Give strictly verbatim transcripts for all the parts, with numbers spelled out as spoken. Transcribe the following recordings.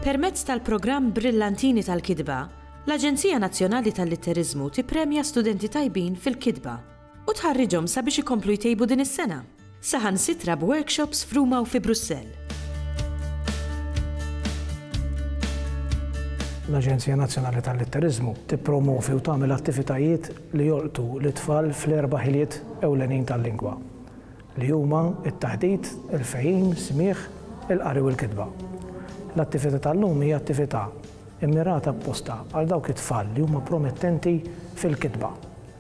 Permezz tal-programm Brillantini tal-Kitba, l-Aġenzija Nazzjonali tal-Litteriżmu tippremja studenti tajbin fil-kitba u tħarriġhom sabiex ikomplu jtejbu din is-sena. Saħansitra b'workshops f'Ruma u fi Brussell. L-Aġenzija Nazzjonali tal-Litteriżmu tippromovi u tagħmel attivitajiet li jolqtu lit-tfal fl-erba' ħiliet ewlenin tal-lingwa, li huma t-taħdit, il-fehim, smigħ, il-qari u l-kitba. L-attività tal-lum hija attività immirata apposta għal dawk it-tfal li huma promettenti fil-kitba,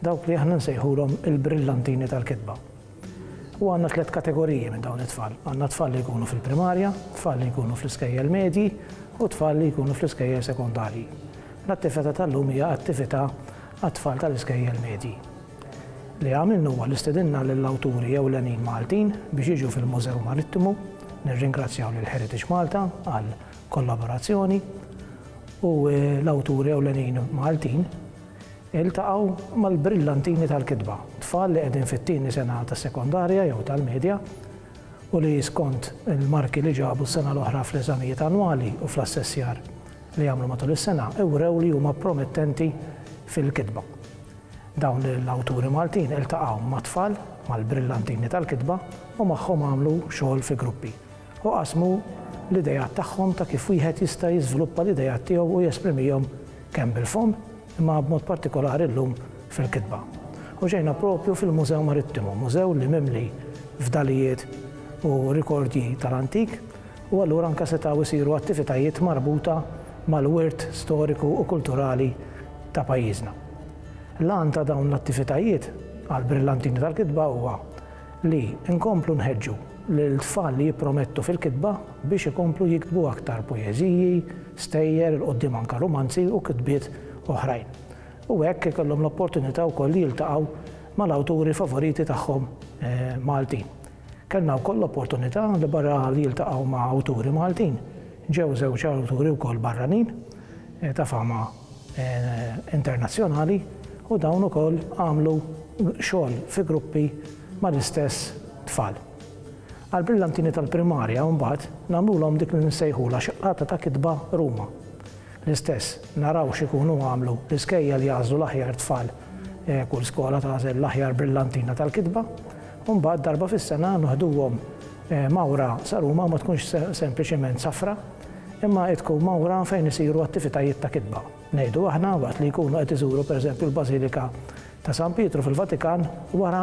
dawk li aħna nsejħulhom il-brillantini tal-kitba. U għandna tliet kategoriji minn dawn it-tfal. Għandna tfal li jkunu fil-primarja, tfal li jkunu fl-iskejjel medji u tfal li jkunu fl-iskejjel sekondarji. L-attività tal-lum hija attività għat-tfal tal-iskejjel medji. Li għamilna huwa li stedinna lill-awturi ewlenin Maltin biex jiġu fil-Mużew Marittimu. Nirringrazzjaw lil Heritage Malta għal kollaborazzjoni u l-awturi ewlenin Maltin iltaqgħu mal-brillantini tal-kitba, tfal li qegħdin fit-tieni sena tas-sekondarja jew tal-medja u li skont il-marki li ġabu s-sena l-oħra fl-eżamijiet annwali u fl-assessjar li jagħmlu matul is-sena ewrew li huma promettenti fil-kitba. Dawn l-awturi Maltin iltaqgħu ma' tfal mal-brillantini tal-kitba u magħhom għamlu xogħol fi gruppi u qasmu l-idejat tagħhom ta' kif wieħed jista' jiżviluppa l-idejat tiegħu u jesprimihom kemm bil-fomm imma b'mod partikolari llum fil-kitba. U ġejna propju fil-Mużew Marittimu, mużew li mimli fdalijiet u rikordji tal-antik, u allura anke setgħu jsiru attivitajiet marbuta mal-wirt storiku u kulturali ta' pajjiżna. L-għan ta' dawn l-attivitajiet għall-brillantini tal-kitba huwa li nkomplu nħeġġu lil tfal li jippromettu fil-kitba biex ikomplu jiktbu aktar poeżiji, stejjer, il-qoddim anke romanzi u kitbiet oħrajn. U hekk ikollhom l-opportunità wkoll li jiltaqgħu mal-awturi favoriti tagħhom Maltin. Kellna wkoll l-opportunità li barra li jiltaqgħu ma' awturi Maltin, ġew żewġ awturi wkoll barranin ta' fama internazzjonali u dawn ukoll għamlu xogħol fi gruppi mal-istess tfal. Għall-brillantini tal-primarja mbagħad nagħmluhom dik li nsejħulha xaqqata ta' kitba Ruma. L-istess naraw x'ikunu għamlu l-iskejjel jagħżlu l-aħjar tfal, kull skola tagħżel l-aħjar brillantina tal-kitba, u mbagħad darba fis-sena noħduhom mawra sa Ruma, ma tkunx sempliċement safra, imma tkun mawra fejn isiru attivitajiet ta' kitba. Ngħidu aħna waqt li jkunu qed iżuru pereżempju l-Bażilika ta' San Pietru fil-Vatikan, wara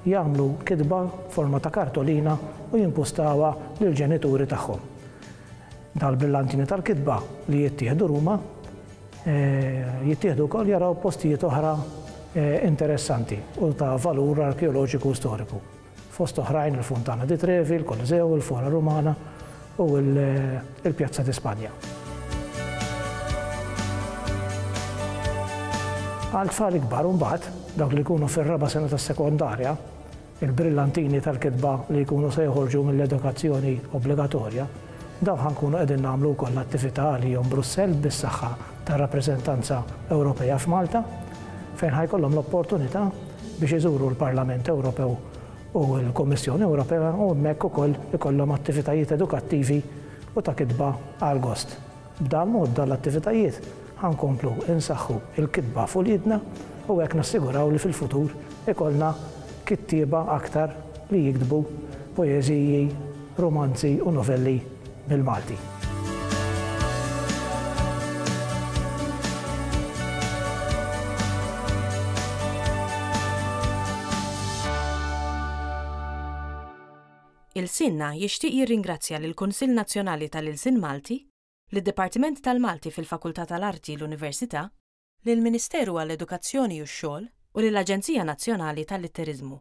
jagħmlu kitba forma ta' kartolina u jimpustawha lill-ġenituri tagħhom. Dal-brillantini tal-kitba li jittieħdu Ruma, jittieħdu wkoll jaraw postijiet oħra interessanti u ta' valur arkeoloġiku u storiku. Fost oħrajn il-Fontana di Trevi, il-Koloseo, il-Fora Romana u il-Pjazza di Spanja. Għal tfal ikbar mbagħad, dawk li jkunu fir-raba' sena tas-sekondarja, il-brillantini tal-kitba li jkunu se joħorġu mill-edukazzjoni obbligatorja, dawn ħankunu qegħdin nagħmlu wkoll attività għalihom Brussell bis-saħħa tar-rappreżentanza Ewropea f'Malta, fejn ħajkollhom l-opportunità biex iżuru l-Parlament Ewropew u l-Kummissjoni Ewropea u hemmhekk ukoll ikollhom attivitajiet edukattivi u ta' kitba għal gost. B'dan mod dan l-attivitajiet ħankomplu insaħħu il-kitba f'uliedna u hekk nassiguraw li fil-futur ikollna kittieba aktar li jiktbu poeżiji, romanzi u novelli bil-Malti. Ilsienna jixtieq jirringrazzja lill-Kunsill Nazzjonali tal-Ilsien Malti, lid-Dipartiment tal-Malti fil-Fakultà tal-Arti l-Università, lill-Ministeru għall-Edukazzjoni u x-Xogħol u lill-Aġenzija Nazzjonali tal-Litteriżmu.